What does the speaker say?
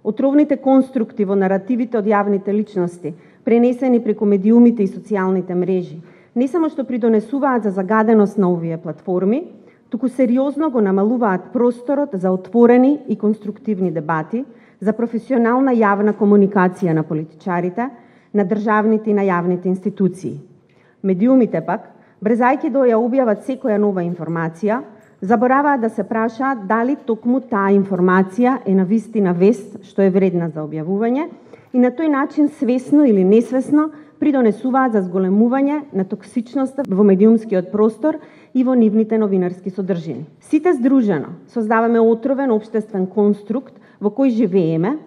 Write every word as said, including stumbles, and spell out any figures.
Отровните конструкти во наративите од јавните личности, пренесени преку медиумите и социјалните мрежи, не само што придонесуваат за загаденост на овие платформи, туку сериозно го намалуваат просторот за отворени и конструктивни дебати, за професионална јавна комуникација на политичарите, на државните и на јавните институции. Медиумите пак, брзајќи да ја објават секоја нова информација, забораваат да се прашаат дали токму таа информација е навистина вест што е вредна за објавување и на тој начин свесно или несвесно придонесуваат за зголемување на токсичноста во медиумскиот простор и во нивните новинарски содржини. Сите здружено создаваме отровен општествен конструкт во кој живееме